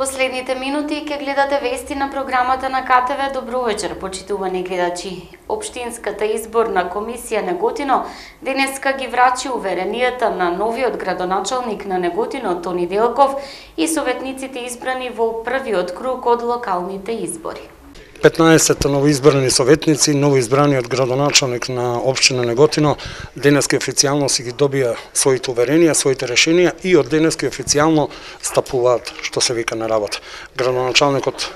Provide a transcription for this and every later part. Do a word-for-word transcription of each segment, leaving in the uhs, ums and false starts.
Последните минути ќе гледате вести на програмата на К Т В. Добро вечер, почитувани гледачи. Општинската изборна комисија Неготино денеска ги врачи уверенијата на новиот градоначалник на Неготино Тони Делков и советниците избрани во првиот круг од локалните избори. петнаесет новоизбрани советници, новоизбраниот градоначалник на општина Неготино денеска официјално си ги добија своите уверенија, своите решенија и од денеска официјално стапуваат, што се вика, на работа. Градоначалникот,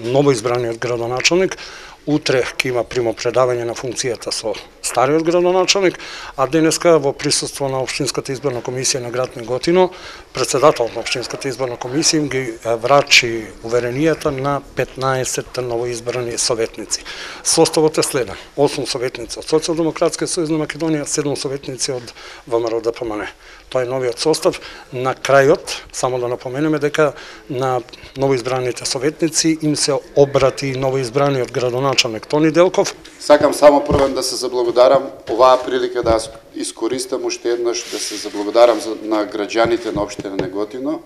новоизбраниот градоначалник, утре ќе има примопредавање на функцијата со стариот градоначалник, а денеска во присуство на општинската изборна комисија на град Неготино, председателот на општинската изборна комисија им ги врачи уверенијата на петнаесет новоизбрани советници. Составот е следен: осум советници од Социјалдемократскиот сојуз на Македонија, седум советници од В М Р Д П М Н. Тоа е новиот состав. На крајот, само да напоменеме дека на новоизбраните советници им се обрати новоизбраниот градоначалник Тони Делков. Сакам само првен да се заблагодарам, оваа прилика да искористам уште еднаш да се заблагодарам на граѓаните на општина Неготино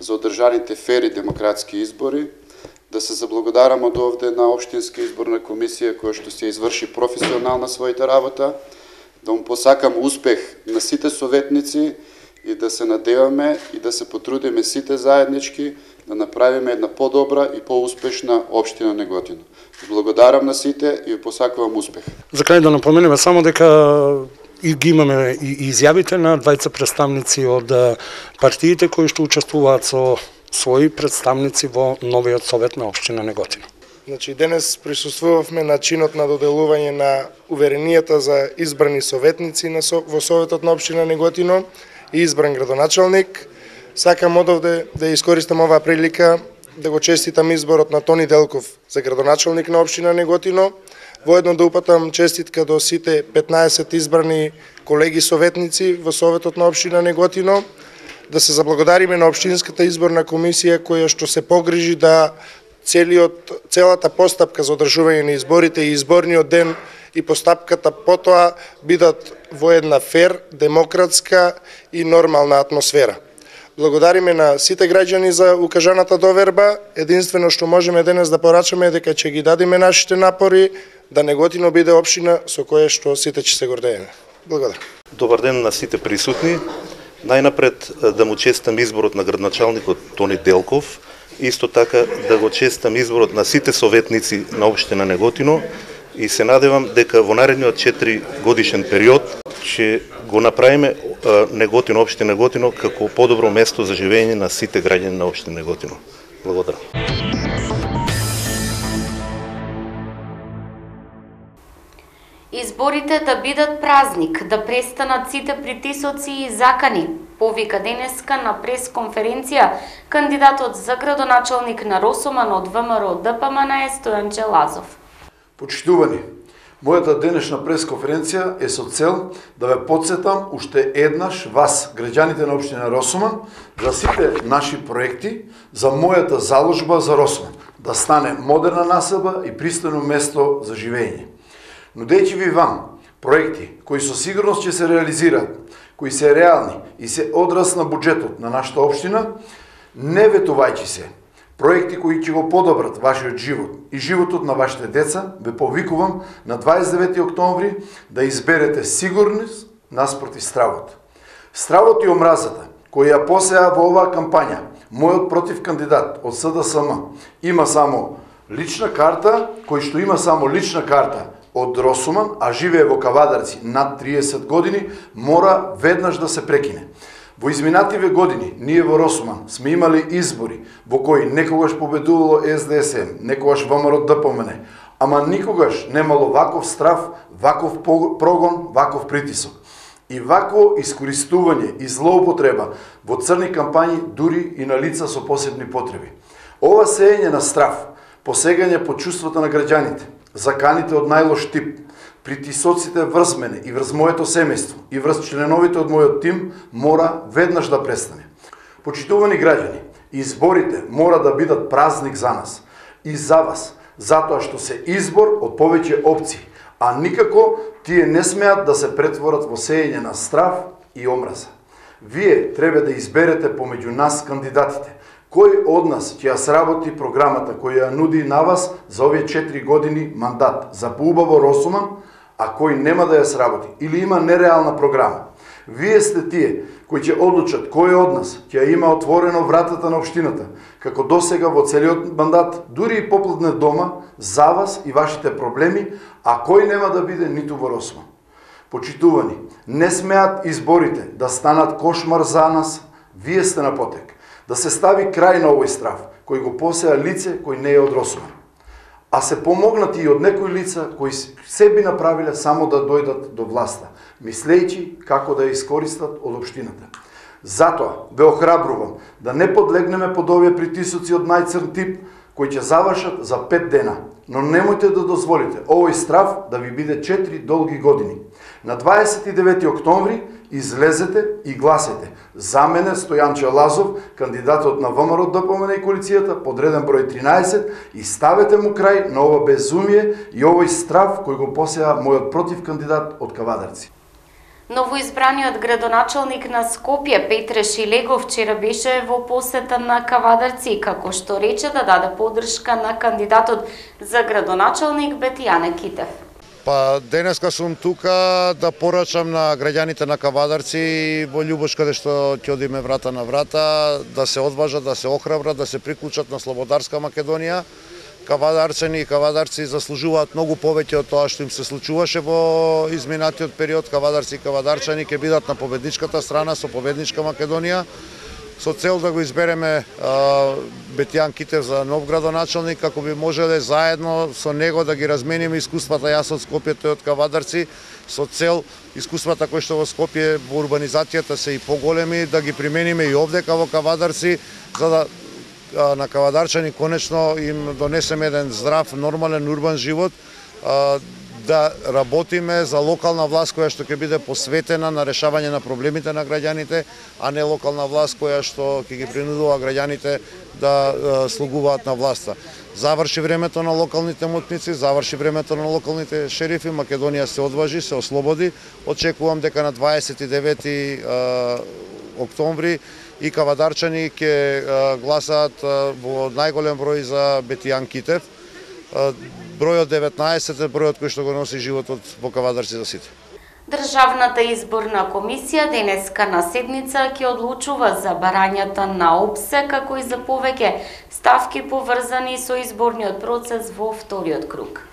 за одржаните фери демократски избори, да се заблагодарам од овде на општинска изборна комисија која што се изврши професионална својата работа, да му посакам успех на сите советници и да се надеваме и да се потрудиме сите заеднички да направиме една подобра и поуспешна општина Неготино. Благодарам на сите и ви посакувам успех. За крај да напоменеме само дека и ги имаме и изјавите на двајца представници од партиите кои што учествуваат со своји представници во новиот совет на општина Неготино. Значи, денес присуствувавме на чинот на доделување на уверенијата за избрани советници на со, во советот на општина Неготино и избран градоначалник. Сакам одовде да искористам оваа прилика да го честитам изборот на Тони Делков за градоначалник на општина Неготино. Воедно да упатам честитка до сите петнаесет избрани колеги советници во советот на општина Неготино. Да се заблагодариме на општинската изборна комисија која што се погрижи да целиот целата постапка за одржување на изборите и изборниот ден и постапката потоа бидат во една фер, демократска и нормална атмосфера. Благодариме на сите граѓани за укажаната доверба. Единствено што можеме денес да порачаме е дека ќе ги дадиме нашите напори да Неготино биде општина со која што сите ќе се гордееме. Благодарам. Добар ден на сите присутни. Најнапред да му честам изборот на градоначалникот Тони Делков, исто така да го честам изборот на сите советници на општина Неготино и се надевам дека во наредниот четири годишен период ќе го направиме Неготино, општина Неготино, како подобро место за живење на сите граѓани на општина Неготино. Благодарам. Изборите да бидат празник, да престанат сите притисоци и закани, повика денеска на пресконференција кандидатот за градоначалник на Росоман од В М Р Д П М Н Стојанче Лазов. Почитувани, мојата денешна пресконференција е со цел да ве потсетам уште еднаш вас, граѓаните на општина Росоман, за сите наши проекти, за мојата заложба за Росоман, да стане модерна населба и пристојно место за живење. Нудејќи ви вам проекти кои со сигурност ќе се реализираат, кои се реални и се одраз на буџетот на нашата општина, не ветувајќи се проекти кои ќе го подобрат вашиот живот и животот на вашите деца, ве повикувам на дваесет и девети октомври да изберете сигурност наспроти стравот. Стравот и омразата кои ја посеа во оваа кампања мојот против кандидат од С Д С М има само лична карта, кој што има само лична карта од Росоман, а живее во Кавадарци над триесет години, мора веднаш да се прекине. Во изминативе години, ние во Росоман сме имали избори во кои некогаш победувало С Д С М, некогаш В М Р Д П М Н, ама никогаш немало ваков страв, ваков прогон, ваков притисок. И вако искористување и злоупотреба во црни кампањи, дури и на лица со посебни потреби. Ова сеење на страв, посегање по чувствата на граѓаните, заканите од најлош тип, притисоците врз мене и врз моето семејство и врз членовите од мојот тим мора веднаш да престане. Почитувани граѓани, изборите мора да бидат празник за нас и за вас, затоа што се избор од повеќе опции, а никако тие не смеат да се претворат во сеење на страв и омраза. Вие треба да изберете помеѓу нас кандидатите, Кој од нас ќе ја сработи програмата која ја нуди на вас за овие четири години мандат за поубаво Росуман, а кој нема да ја сработи или има нереална програма? Вие сте тие кои ќе одлучат кој од нас ќе има отворено вратата на општината, како досега во целиот мандат, дури и поплатне дома за вас и вашите проблеми, а кој нема да биде ниту во Росуман. Почитувани, не смеат изборите да станат кошмар за нас, вие сте на потек. Да се стави крај на овој страф, кој го посеа лице кој не е од Росуман. А се помогнати и од некои лица кои се би направиле само да дојдат до власта, мислејќи како да ја искористат од општината. Затоа ве охрабрувам да не подлегнеме под овие притисоци од најцрн тип, кои ќе завршат за пет дена, но немојте да дозволите овој страф да ви биде четири долги години. На дваесет и девети октомври излезете и гласете за мене Стојанче Лазов, кандидатот на ВМРО ДПМН и коалицијата под реден број тринаесет, и ставете му крај на ова безумие и овој страф кој го посеа мојот против кандидат од Кавадарци. Новоизбраниот градоначалник на Скопје Петре Шилегов вчера беше во посета на Кавадарци, како што рече да даде поддршка на кандидатот за градоначалник Бетијане Китев. Па денеска сум тука да порачам на граѓаните на Кавадарци во љубош каде што ќе одиме врата на врата, да се одважат, да се охрабрат, да се приклучат на слободарска Македонија. Кавадарчани и кавадарци заслужуваат многу повеќе од тоа што им се случуваше во изминатиот период. Кавадарци и кавадарчани ќе бидат на победничката страна со победничка Македонија, со цел да го избереме а, Бетијан Китев за нов градоначалник, како би можеле заедно со него да ги размениме искуствата, јас од Скопје, тој од Кавадарци, со цел искуствата кои што во Скопје во урбанизацијата се и поголеми, да ги примениме и овдека во Кавадарци, за да а, на кавадарчани конечно им донесеме еден здрав, нормален урбан живот, а, да работиме за локална власт која што ќе биде посветена на решавање на проблемите на граѓаните, а не локална власт која што ќе ги принудува граѓаните да е, слугуваат на власта. Заврши времето на локалните мутници, заврши времето на локалните шерифи, Македонија се одважи, се ослободи. Очекувам дека на дваесет и девети октомври и кавадарчани ќе гласаат во најголем број за Бетијан Китев. Бројот деветнаесет е бројот кој што го носи животот во Кавадарци за сите. Државната изборна комисија денеска на седница ќе одлучува за барањата на ОПСЕ, како и за повеќе ставки поврзани со изборниот процес во вториот круг.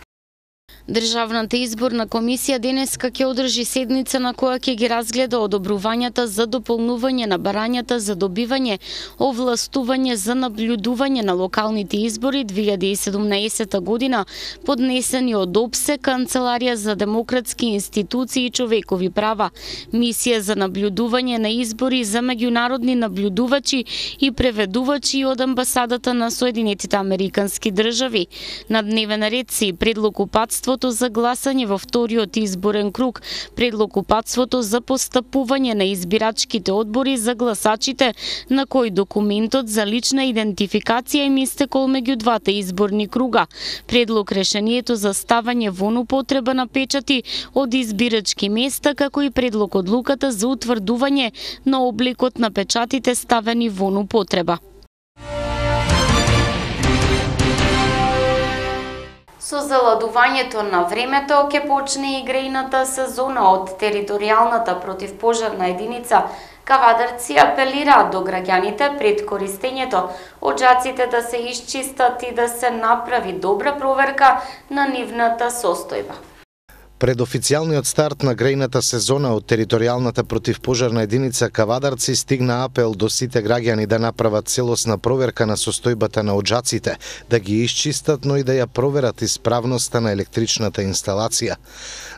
Државната изборна комисија денеска ќе одржи седница на која ќе ги разгледа одобрувањата за дополнување на барањата за добивање овластување за наблюдување на локалните избори две илјади и седумнаесета година, поднесени од ОПСЕ, Канцеларија за демократски институции и човекови права, мисија за наблюдување на избори за меѓународни наблюдувачи и преведувачи од амбасадата на Соединетите Американски држави. На дневен ред се и предлог упатство за гласање во вториот изборен круг, предлог упатството за постапување на избирачките одбори за гласачите, на кој документот за лична идентификација им истекол меѓу двата изборни круга, предлог решението за ставање во употреба на печати од избирачки места, како и предлог одлуката за утврдување на обликот на печатите ставени во употреба. Со заладувањето на времето ќе почне и грејната сезона. Од територијалната противпожарна единица Кавадарци апелираат до граѓаните пред користењето оџаците да се исчистат и да се направи добра проверка на нивната состојба. Пред официјалниот старт на грејната сезона од територијалната противпожарна единица Кавадарци стигна апел до сите граѓани да направат целосна проверка на состојбата на оџаците, да ги исчистат, но и да ја проверат исправноста на електричната инсталација.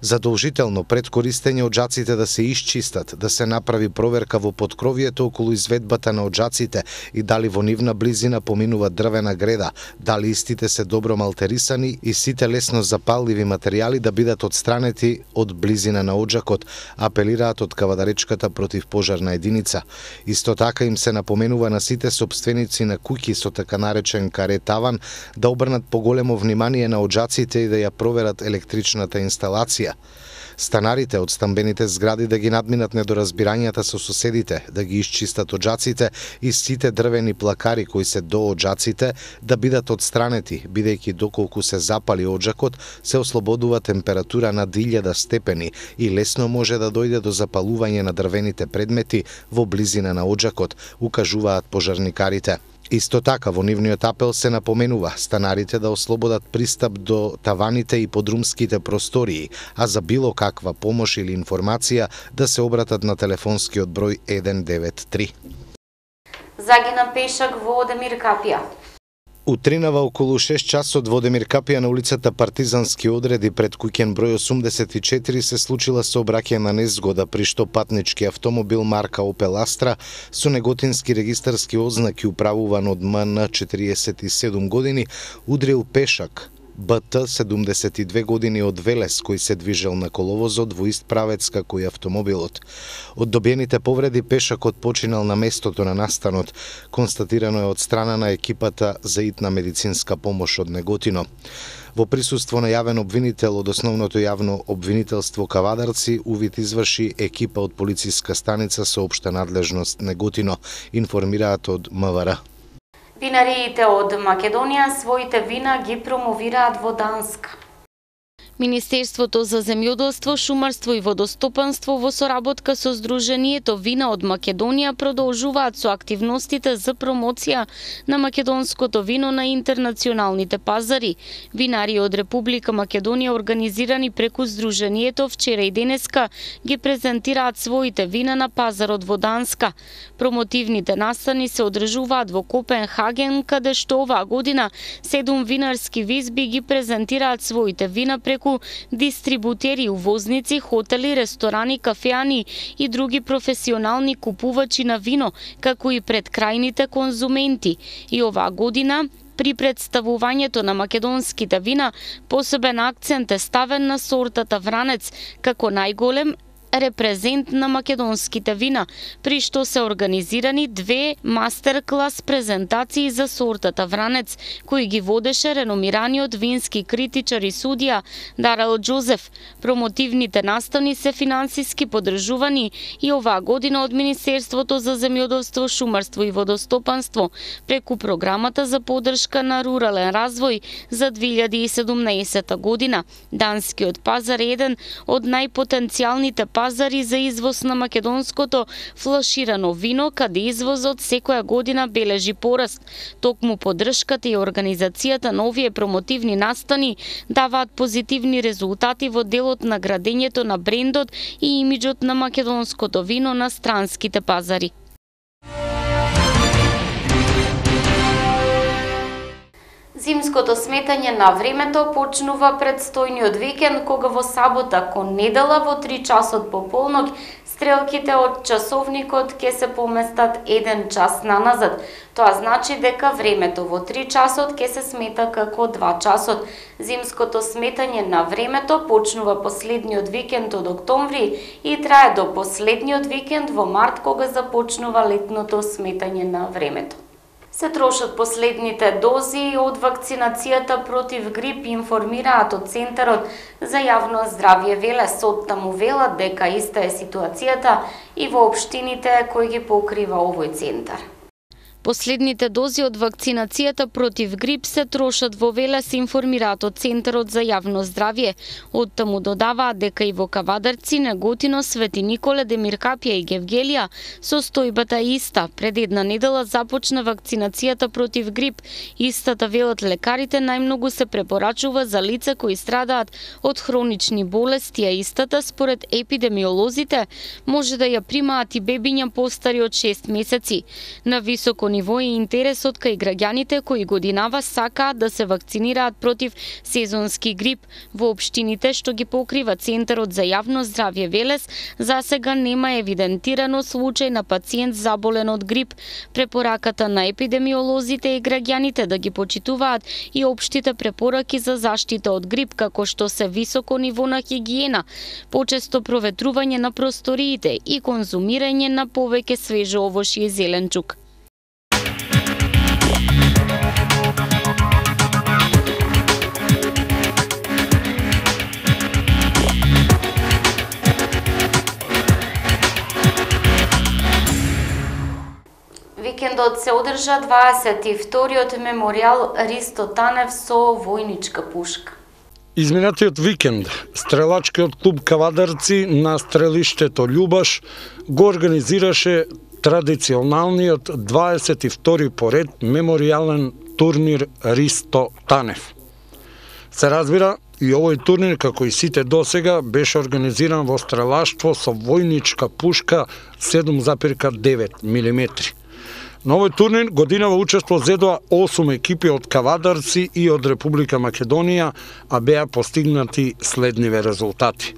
Задолжително пред користење оџаците да се исчистат, да се направи проверка во поткровието околу изведбата на оџаците и дали во нивна близина поминува дрвена греда, дали истите се добро малтерисани и сите лесно запалливи материјали да бидат одстранети странети од близина на оџакот, апелираат од Кавадаречката противпожарна единица. Исто така им се напоменува на сите сопственици на куќи со така наречен каре таван да обрнат поголемо внимание на оџаците и да ја проверат електричната инсталација. станарите од стамбените згради да ги надминат недоразбирањата со соседите, да ги исчистат оџаците и сите дрвени плакари кои се до оџаците да бидат отстранети, бидејќи доколку се запали оџакот, се ослободува температура над илјада степени и лесно може да дојде до запалување на дрвените предмети во близина на оџакот, укажуваат пожарникарите. Исто така, во нивниот апел се напоменува станарите да ослободат пристап до таваните и подрумските простории, а за било каква помош или информација да се обратат на телефонскиот број еден девет три. Загина пешак во Одемир Капија. Утринава околу шест часот во Одемир Капија на улицата Партизански одреди пред куќен број осумдесет и четири се случила сообраќајна незгода при што патнички автомобил марка Opel Astra со неготински регистарски ознаки управуван од М Н четириесет и седум години удрил пешак Б Т седумдесет и две години од Велес кој се движел на коловозот во ист правец како и автомобилот. Од добиените повреди пешакот починал на местото на настанот. Констатирано е од страна на екипата за итна медицинска помош од Неготино. Во присуство на јавен обвинител од основното јавно обвинителство Кавадарци, увид изврши екипа од полициска станица со општа надлежност Неготино, информираат од М В Р. Винариите од Македонија своите вина ги промовираат во Данска. Министерството за земјоделство, шумарство и водостопанство во соработка со Сдруженијето Вина од Македонија продолжуваат со активностите за промоција на македонското вино на интернационалните пазари. Винари од Република Македонија организирани преку Сдруженијето вчера и денеска ги презентираат своите вина на пазарот во Данска. Промотивните настани се одржуваат во Копенхаген, каде што оваа година седум винарски визби ги презентираат своите вина преку дистрибутери, увозници, хотели, ресторани, кафеани и други професионални купувачи на вино, како и пред крајните конзументи. И оваа година при представувањето на македонските вина посебен акцент е ставен на сортата Вранец како најголем репрезент на македонските вина, при што се организирани две мастер-клас презентации за сортата Вранец, кои ги водеше реномираниот вински критичар и судија Дарел Џозеф. Промотивните настани се финансиски поддржувани и оваа година од Министерството за земјоделство, шумарство и водостопанство преку програмата за поддршка на рурален развој за две илјади и седумнаесета година. Данскиот пазар е еден од најпотенцијалните пазари за извоз на македонското флаширано вино, каде извозот секоја година бележи пораст. Токму поддршката и организацијата на овие промотивни настани даваат позитивни резултати во делот на градењето на брендот и имиџот на македонското вино на странските пазари. Зимското сметање на времето почнува предстојниот викенд, кога во сабота кон недела во три часот по полнок стрелките од часовникот ќе се поместат еден час наназад. Тоа значи дека времето во три часот ќе се смета како два часот. Зимското сметање на времето почнува последниот викенд од октомври и трае до последниот викенд во март, кога започнува летното сметање на времето. Се трошат последните дози од вакцинацијата против грип, информираат од Центарот за јавно здравје Велес. Од таму велат дека иста е ситуацијата и во општините кои ги покрива овој центар. Последните дози од вакцинацијата против грип се трошат во Велес, информираат од Центарот за јавно здравје. Од таму додаваат дека и во Кавадарци, Неготино, Свети Николе, Демир Капија и Гевгелија состојбата е иста. Пред една недела започна вакцинацијата против грип. Истата, велат лекарите, најмногу се препорачува за лица кои страдаат од хронични болести, а истата, според епидемиолозите, може да ја примаат и бебиња постари од шест месеци. На високо ниво е интересот кај граѓаните кои годинава сакаат да се вакцинираат против сезонски грип. Во општините што ги покрива Центарот за јавно здравје Велес, засега нема евидентирано случај на пациент заболен од грип. Препораката на епидемиолозите и граѓаните да ги почитуваат и општите препораки за заштита од грип, како што се високо ниво на хигиена, почесто проветрување на просториите и конзумирање на повеќе свежо овошје и зеленчук. градот се одржа дваесет и вториот меморијал Ристо Танев со војничка пушка. Изминатиот викенд, стрелачкиот клуб Кавадарци на стрелиштето Љубаш го организираше традиционалниот дваесет и втори поред меморијален турнир Ристо Танев. Се разбира, и овој турнир, како и сите досега, беше организиран во стрелаштво со војничка пушка седум запирка девет милиметри. На овој турнир годинава учество зедоа осум екипи од Кавадарци и од Република Македонија, а беа постигнати следниве резултати.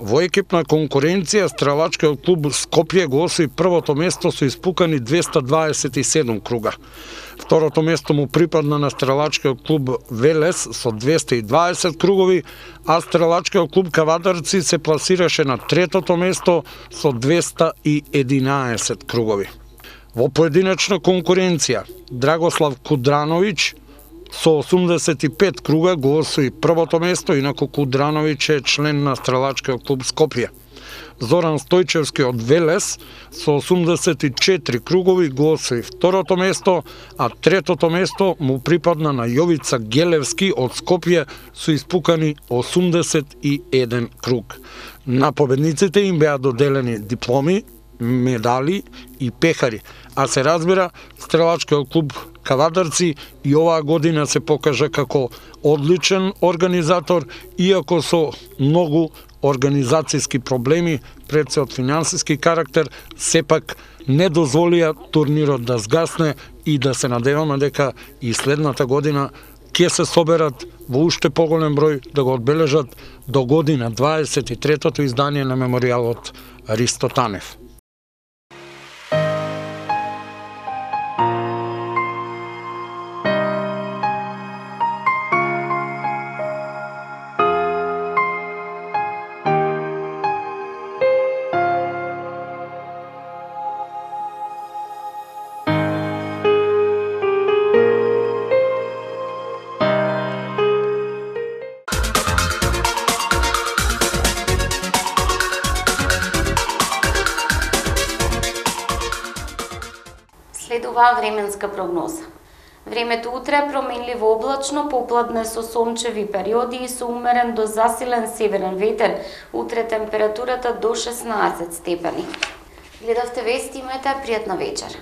Во екипна конкуренција стрелачкиот клуб Скопје го освои првото место со испукани двеста дваесет и седум круга. Второто место му припадна на стрелачкиот клуб Велес со двеста и дваесет кругови, а стрелачкиот клуб Кавадарци се пласираше на третото место со двеста и единаесет кругови. Во поединечна конкуренција, Драгослав Кудрановиќ со осумдесет и пет круга го освои првото место, инаку Кудрановиќ е член на стрелачкиот клуб Скопје. Зоран Стојчевски од Велес со осумдесет и четири кругови го освои второто место, а третото место му припадна на Јовица Гелевски од Скопје со испукани осумдесет и еден круг. На победниците им беа доделени дипломи, медали и пехари, а се разбира, стрелачкиот клуб Кавадарци и оваа година се покажа како одличен организатор, иако со многу организацијски проблеми, пред се од финансиски карактер, сепак не дозволија турнирот да згасне и да се надеваме дека и следната година ќе се соберат во уште поголем број да го одбележат до година дваесет и третото издание на меморијалот Ристо Танев. Следува временска прогноза. Времето утре е променливо облачно, попладне со сончеви периоди и со умерен до засилен северен ветер. Утре температурата до шеснаесет степени. Гледавте вести, имајте пријатна вечер.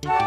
Thank you.